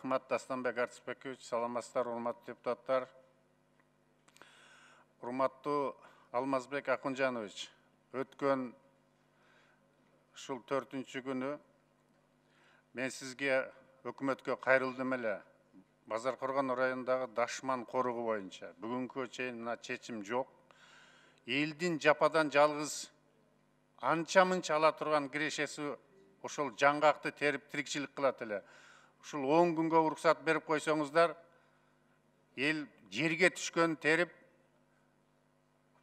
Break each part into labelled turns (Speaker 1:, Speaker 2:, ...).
Speaker 1: Рахмат, Дастанбек Артисбекович. Саламатсыздар, урматтуу депутаттар. Урматтуу Алмазбек Акунжанович, өткөн ушул 4-күнү мен сизге өкмөткө кайрылдым эле. Базаркоргон районундагы Дашман коругу боюнча бүгүнкү чейин мына чечим жок. Элдин жападан жалгыз анча-мынча ала турган кирешеси ошол жаңгакты терип тирикчилик кылат эле. Ушул 10 күнгө уруксат берип койсоңуздар, эл жерге түшкөн терип,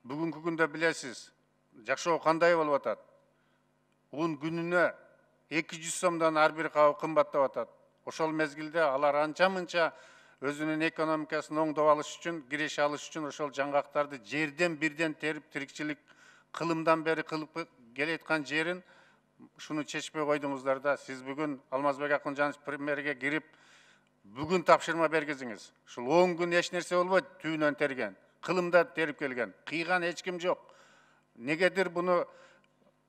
Speaker 1: бүгүнкү күндө билесиз, жашоо кандай болуп атат. Un күнүнө 200 сомдон ар бир кабы кымбаттап атат. Ошол мезгилде алар анча-мынча өзүнүн экономикасын оңдоп алыш үчүн, киреше алыш үчүн ошол жаңгактарды жерден бирден терип тирикчилик кылымдан бери кылып келаткан жерин шуну чечпей койдуңуздар да. Сиз бүгүн Алмазбек Акунжанович премьерге кирип, бүгүн тапшырма бергизиңиз. Ушул 10 күн эч нерсе болбойт, түйүнөн терген, кылымда терип келген, кыйган эч ким жок. Негедир буну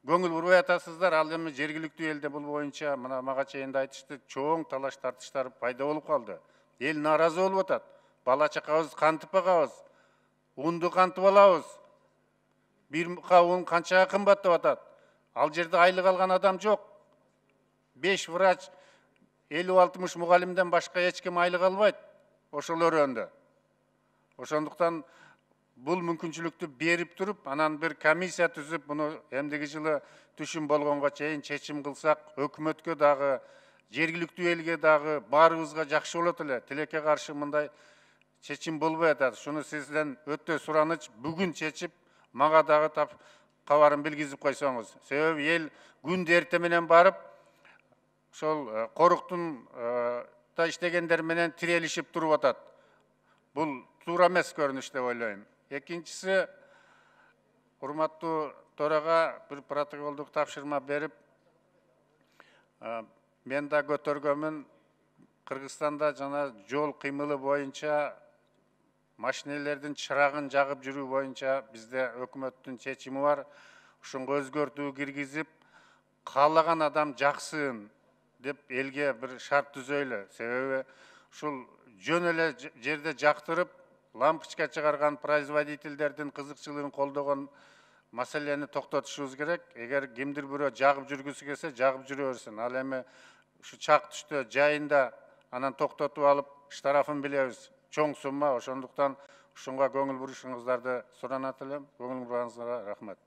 Speaker 1: көңүл бурбай атасыздар? Ал эми жергиликтүү элде бул боюнча мына мага чейин да айтышты, чоң талаш тартыштар пайда болуп калды. Эл нааразы болуп атат. Бала чакабыз кантип багабыз? Унду кантип алабыз? Бир кап un канчага кымбаттап атат? Ал жерде айлык алган адам жок. 5 врач, 50-60 мугалимден башка эч ким айлык албайт ошол өрөөндө. Ошондуктан бул мүмкүнчүлүктү берип туруп, анан бир комиссия түзүп, буну эмдиги жылы түшүм болгонго чейин чечим кылсак, өкмөткө дагы, жергиликтүү элге дагы баарыбызга жакшы болот эле. Тилекке каршы мындай чечим болбой атат. Шуну сизден өтө сураныч, бүгүн чечип, мага дагы кабарын билгизип койсоңуз. Себеби эл күндө эрте менен барып, ошол коруктун иштегендер менен тирелишип туруп атат. Бул туура эмес көрүнүш деп ойлойм. Экинчиси, урматтуу төрага бир протоколдук тапшырма берип, мен да көтөргөмүн. Кыргызстанда жана жол кыймылы боюнча машинелердин чырагын жагып жүрүү боюнча бизде өкмөттүн чечими бар. Ушунга өзгөртүү киргизип, каалаган адам жаксын деп элге бир шарт түзөйлү. Себеби ушул жөн эле жерде жактырып, лампочка чыгарган производительдердин кызыкчылыгын колдогон маселени токтотушубуз керек. Эгер кимдир бирөө жагып жүргүсү келсе, жагып жүрө берсин. Ал эми ушу чак түштө жайында анан токтотуп алып, штрафын билебиз. Чоң сумма, ошондуктан ушунга көңүл бурушуңуздарды суранат элем. Көңүл бурганыңызга рахмат.